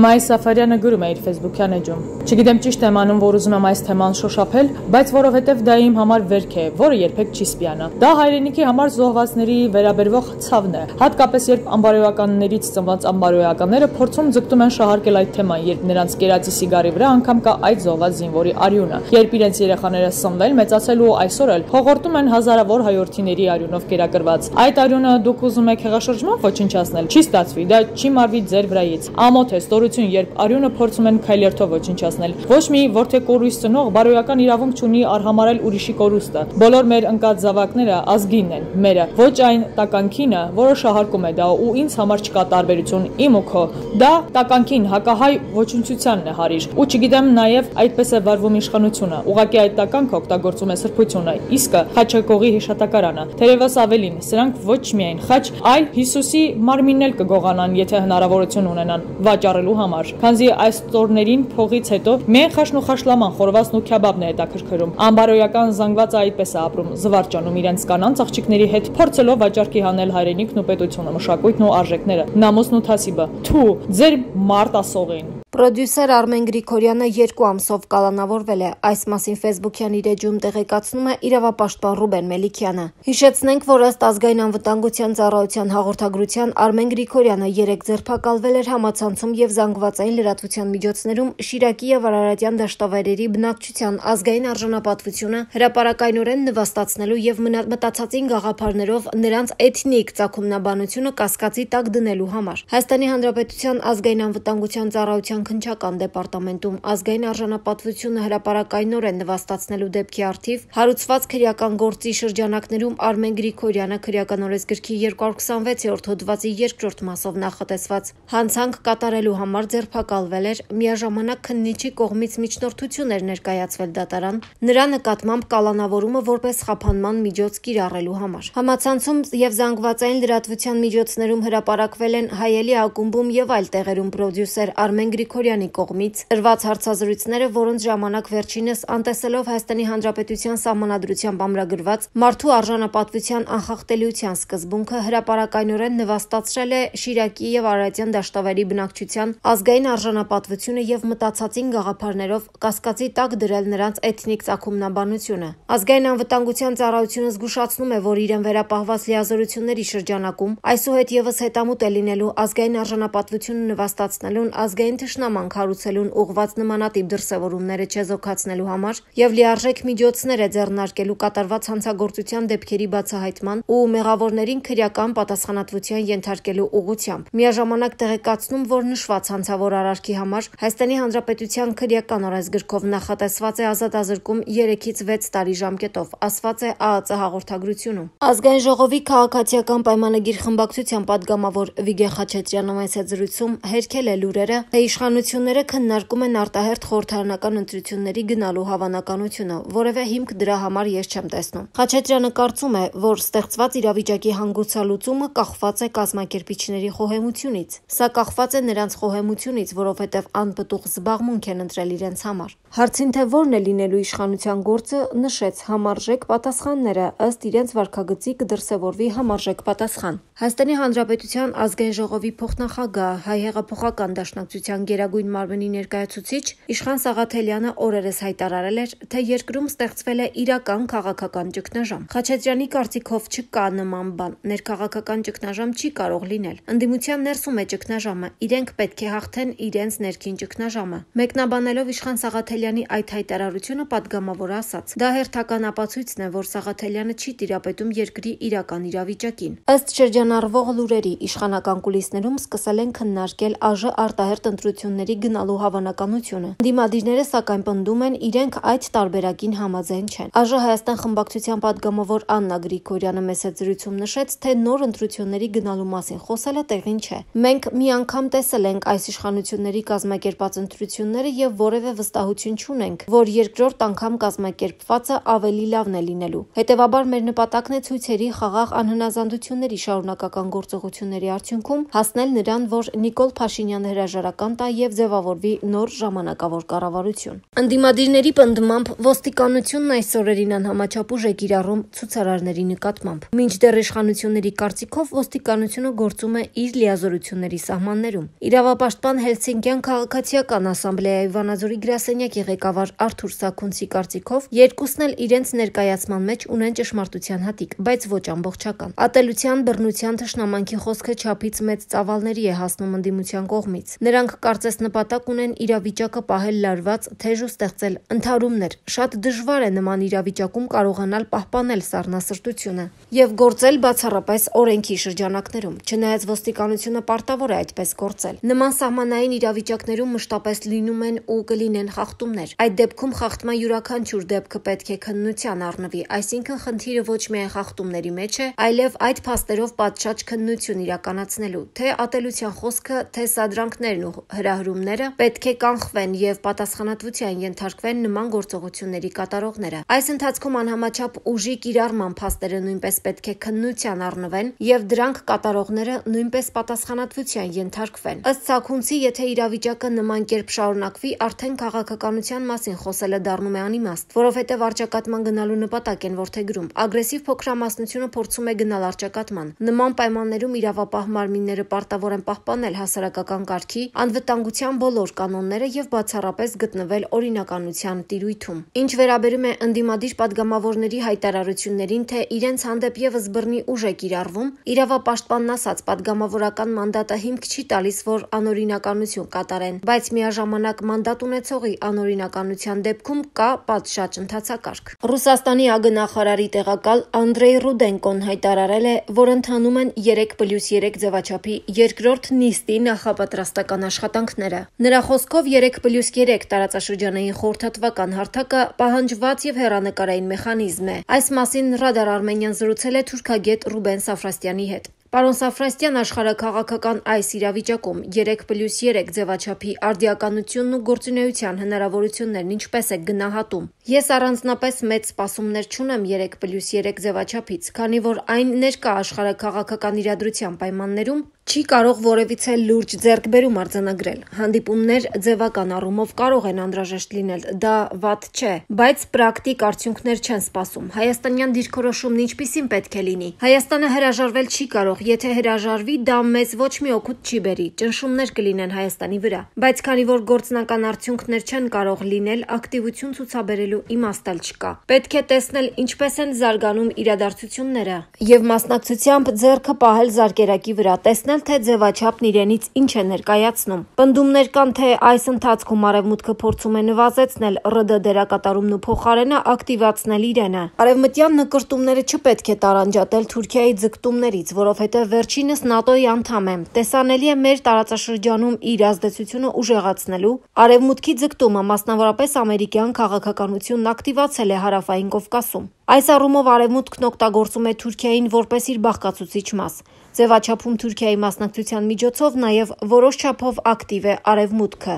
Մայր Սաֆարյանը գրում է իր Facebook-յան էջում. Չգիտեմ ճիշտ եմ անում, որ ուզում եմ այս թեման շոշափել, բայց որովհետև դա իմ համար վերք է, որը երբեք չի սպիանա։ Դա հայրենիքի համար զոհվածների վերաբերվող ցավն է, հատկապես երբ անբարոյականներից ծնված անբարոյականները փորձում ձգտում են շահարկել այդ թեման, երբ նրանց կերածի սիգարի վրա անգամ կա այդ զոհված զինվորի արյունը, երբ իրենց երեխաները սնվել, մեծացել ու այսօր էլ հողորտում են հազարավոր հայրենիների արյունով կերակրված։ Այդ արյունը դուք ուզում եք հեղաշրջման ոչնչացնել, չի ստացվի, դա չի մարվի ձեր վրայից։ Ամոթ է երբ արյունը փորձում են քայլերթով ոչնչացնել։ Ոչ մի որդեկորույս ծնող բարոյական իրավունք չունի արհամարել ուրիշի կորուստը։ Բոլոր մեր ընկած զավակները ազգինն են, մերը, ոչ այն տականքինը, որը շահարկում է դա ու ինձ համար չկա տարբերություն, իմ ու քո։ Դա տականքին հակահայ ոչնչությանն է հարիր։ Ու չգիտեմ նաև այդպես է վարվում իշխանությունը։ Ուղղակի այդ տականքը օգտագործում է սրբությունը, իսկը Խաչակողի հիշատակարանը։ Թերևս ավելին, սրանք ոչ միայն խաչ, այլ Հիսուսի մարմինն էլ կգողանան, եթե հնարավորություն ունենան վաճառելու համար, քանզի այս տորներին փողից հետո միայն խաշն ու խաշլաման, խորվացն ու քյաբաբն է հետաքրքրում։ Անբարոյական զանգվածը այդպես է ապրում, զվարճանում իրենց կանանց աղջիկների հետ, փորձելով վաճառքի հանել հայրենիքն ու պետությունը, մշակույթն ու արժեքները, նամուսն ու թասիբը։ Թու, ձեր մարտասողին։ Պրոդյուսեր Արմեն Գրիգորյանը 2 ամսով կալանավորվել է։ Այս մասին Facebook-յան իր էջում տեղեկացնում է իրավապաշտպան Ռուբեն Մելիքյանը։ Հիշեցնենք, որ ըստ ազգային անվտանգության ծառայության հաղորդագրության Արմեն Գրիգորյանը 3 ձերբակալվել էր համացանցում եւ զանգվածային լրատվության միջոցներում Շիրակի եւ Արարատյան դաշտավայրերի բնակչության ազգային արժանապատվությունը հրապարակայնորեն նվաստացնելու եւ մտածածին գաղափարներով նրանց էթնիկ ծագումնաբանությունը կասկածի տակ դնելու համար։ Հայաստանի Հանրապետության ազգային անվտանգության ծառայության քննչական դեպարտամենտում ազգային արժանապատվությունը հրապարակայնորեն նվաստացնելու դեպքի առթիվ հարուցված քրեական գործի շրջանակներում Արմեն Գրիգորյանը քրեական օրենսգրքի 226-րդ հոդվածի 2-րդ մասով նախատեսված հանցանք կատարելու համար ձերբակալվել էր, միաժամանակ քննիչի կողմից միջնորդություն էր ներկայացվել դատարան նրա նկատմամբ կալանավորումը որպես խափանման միջոց կիրառելու համար։ Համացանցում եւ զանգվածային լրատվության միջոցներում հրապարակվել են Հայելի ակումբում եւ այլ տեղերում պրոդյուսեր Արմեն Գրիգորյանի կողմից տրված հարցազրույցները, որոնց ժամանակ վերջինս անտեսելով Հայաստանի Հանրապետության Սահմանադրությամբ ամրագրված մարդու արժանապատվության անխախտելիության սկզբունքը հրապարակայնորեն նվաստացրել է Շիրակի եւ Արարատյան դաշտավայրի բնակչության ազգային արժանապատվությունը եւ մտածածին գաղափարներով կասկածի տակ դրել նրանց էթնիկ ծագումնաբանությունը։ Ազգային անվտանգության ծառայությունը զգուշացնում է, որ իրեն վերապահված լիազորությունների շրջանակում այսուհետ եւս հետամուտ է լինելու ազգային արժանապատվությունը նվաստացնելուն, ազգային թշնամանք հարուցելուն ուղղված նմանատիպ դրսևորումները չեզոքացնելու համար եւ լիարժեք միջոցներ է ձեռնարկելու կատարված հանցագործության դեպքերի բացահայտման ու մեղավորներին քրեական պատասխանատվության ենթարկելու ուղղությամբ։ Միաժամանակ տեղեկացնում, որ նշված հանցավոր արարքի համար Հայաստանի Հանրապետության քրեական օրենսգրքով նախատեսված է ազատազրկում 3-ից 6 տարի ժամկետով, ասված է ԱԱԾ հաղորդագրությունում։ Ազգային ժողովի քաղաքացիական պայմանագիր խմբակցության падգամավոր Վիգեն Խաչատրյանը այս զրույցում հերքել է լուրերը, թե իշխանությունները քննարկում են արտահերթ խորհրդարանական ընտրությունների գնալու հավանականությունը, որևէ հիմք դրա համար ես չեմ տեսնում։ Խաչատրյանը կարծում է, որ ստեղծված իրավիճակի հանգուցալուծումը կախված է կազմակերպիչների խոհեմությունից։ Սա կախված է նրանց խոհեմությունից, որովհետև անպտուղ զբաղմունք են ընտրել իրենց համար։ Հարցին, թե որն է լինելու իշխանության գործը, նշեց համարժեք պատասխանները, ըստ իրենց վարքագծի կդրսևորվի համարժեք պատասխան։ Հայաստանի Հանրապետության ազգային ժողովի փոխնախագահ Հայ հեղափոխական դաշնակցության գերագույն մարմնի ներկայացուցիչ Իշխան Սաղաթելյանը օրերս հայտարարել էր, թե երկրում ստեղծվել է իրական քաղաքական ճգնաժամ։ Խաչատրյանի կարծիքով չկա նման բան, ներքաղաքական ճգնաժամ չի կարող լինել։ Ընդդիմության ներսում է ճգնաժամը, իրենք պետք է հաղթեն իրենց ներքին ճգնաժամը։ Մեկնաբանելով Իշխան Սաղաթելյանի այդ հայտարարությունը падգամավորը ասաց. դա հերթական ապացույցն է, որ Սաղաթելյանը չի տիրապետում երկրի իրական իրավիճակին։ Ըստ շրջանառվող լուրերի, իշխանական կուլիսներում սկսել են քննարկել ԱԺ արտահերթ ընտրությունների գնալու հավանականությունը։ Դիմադիրները սակայն պնդում են, իրենք այդ տարբերակին համաձայն չեն։ ԱԺ Հայաստան խմբակցության падգամավոր Աննա Գրիգորյանը մեծ զրույցում նշեց, թե նոր ընտրությունների գնալու մասին խոսելը տեղին չէ։ Մենք մի անգամ տեսել ենք այս իշխանությունների կազմակերպած ընտրությունները եւ որևէ վստահություն չունենք, որ երկրորդ անգամ կազմակերպվածը ավելի լավն է լինելու։ Հետևաբար մեր նպատակն է ցույցերի խաղաղ անհնազանդությունների շարունակական գործողությունների արդյունքում հասնել նրան, որ Նիկոլ Փաշինյանը հրաժարական տա եւ ձևավորվի նոր ժամանակավոր կառավարություն։ Ընդդիմադիրների պնդմամբ ոստիկանությունն այս օրերին անհամաչափ ուժ է կիրառում ցուցարարների նկատմամբ։ Մինչդեռ իշխանությունների կարծիքով ոստիկանությունը գործում է իր լիազորությունների սահմաններում։ Իրավապաշտպան Հելսինկյան քաղաքացիական ասամբլեայի Վանաձորի գրասենյակի ղեկավար Արթուր Սաքունցի կարծիքով երկուսն էլ իրենց ներկայացման մեջ ունեն ճշմարտության հատիկ, բայց ոչ ամբողջական։ Ատելության, բռնության, թշնամանքի խոսքը չափից մեծ ծավալների է հասնում ընդդիմության կողմից։ Նրանք կարծես նպատակ ունեն իրավիճակը պահել լարված, թեժ ու ստեղծել ընդհարումներ։ Շատ դժվար է նման իրավիճակում կարողանալ պահպանել սառնասրտությունը եւ գործել բացառապես օրենքի շրջանակներում, չնայած ոստիկանությունը պարտավոր է այդպես գործել։ Նման սահմանային իրավիճակներում մշտապես լինում են ու կլինեն խախտումներ։ Այդ դեպքում խախտման յուրաքանչյուր դեպքը պետք է քննության առնվի, այսինքն խնդիրը ոչ միայն խախտումների մեջ է, այլև այդ փաստերով պատշաճ քննություն իրականացնելու, թե ատելության խոսքը, թե սադրանքներն ու հրահրումները պետք է կանխվեն եւ պատասխանատվության ենթարկվեն նման գործողությունների կատարողները։ Այս ընթացքում անհամաչափ ուժի կիրառման փաստերը նույնպես պետք է քննության առնվեն եւ դրանք կատարողները նույնպես պատասխանատվության ենթարկվեն։ Ըստ Սաքունցի, եթե իրավիճակը նման կերպ շարունակվի, արդեն քաղաքականության մասին խոսելը դառնում է անիմաստ, որովհետև արճակատման գնալու նպատակ են որդեգրում։ Ագրեսիվ փոքրամասնությունը փորձում է գնալ արճակատման։ Նման պայմաններում իրավապահ մարմինները պարտավոր են պահպանել հասարակական կարգի, անվտանգության բոլոր կանոնները եւ բացառապես գտնվել օրինականության տիրույթում։ Ինչ վերաբերում է ընդդիմադիր падգամավորների հայտարարություններին, թե իրենց հանդեպ եւս բռնի ուժ է կիրառվում, իրավապաշտպանն ասաց, падգամավորական մանդատը հիմք չի տալիս, որ անօրինականություն կատարեն, բայց միաժամանակ մանդատ ունեցողի անօրինականության դեպքում կա պատշաճ ընթացակարգ։ Ռուսաստանի ԱԳ-նախարարի տեղակալ Անդրեյ Ռուդենկոն հայտարարել է, որ ընթանում են 3+3 ձևաչափի երկրորդ նիստի նախապատրաստական աշխատանքները։ Նրա խոսքով 3+3 տարածաշրջանային խորհրդատվական հարթակը պահանջված եւ հեռանկարային մեխանիզմ է։ Այս մասին Ռադար Արմենիան զրուցել է թուրքագետ Ռուբեն Սաֆրաստյանի հետ։ Պարոն Սաֆրաստյան, աշխարհաքաղաքական այս իրավիճակում 3+3 ձևաչափի արդիականությունն ու գործունեության հնարավորություններն ինչպես է գնահատում։ Ես առանձնապես մեծ սպասումներ չունեմ 3+3 ձևաչափից, քանի որ այն ներկա աշխարհաքաղաքական իրադրության պայմաններում չի կարող որևիցե լուրջ ձեռքբերում արձանագրել։ Հանդիպումներ ձևական առումով կարող են անհրաժեշտ լինել, դա վատ չէ, բայց պրակտիկ արդյունքներ չեն սպասում։ Հայաստանյան դիրքորոշումն ինչպիսին պետք է լինի։ Հայաստանը հրաժարվել չի կարող, եթե հրաժարվի, դա մեզ ոչ մի օգուտ չի բերի, ճնշումներ կլինեն Հայաստանի վրա։ Բայց քանի որ գործնական արդյունքներ չեն կարող լինել, ակտիվություն ցուցաբերելու իմաստ էլ չկա։ Պետք է տեսնել ինչպես են զարգանում իրադարձությունները եւ մասնակցությամբ ձեռքը պահել զարկերակի վրա, տեսնել թե ձևաչափն իրենից ինչ է ներկայացնում։ Պնդումներ կան, թե այս ընթացքում Արևմուտքը փորձում է նվազեցնել ՌԴ դերակատարումն ու փոխարենը ակտիվացնել իրենը։ Արևմտյան նկրտումները չպետք է տարանջատել Թուրքիայի ձգտումներից, որովհետև վերջինս ՆԱՏՕ-ի անդամ է։ Տեսանելի է մեր տարածաշրջանում իր ազդեցությունը ուժեղացնելու Արևմուտքի ձգտումը, մասնավորապես ամերիկյան քաղաքականությունն ակտիվացել է Հարավային Կովկասում։ Այս առումով Արևմուտքն օգտագործում է Թուրքիային որպես իր բաղկացուցիչ մաս։ Ձևաչափում Թուրքիայի մասնակցության միջոցով նաև որոշ չափով ակտիվ է Արևմուտքը։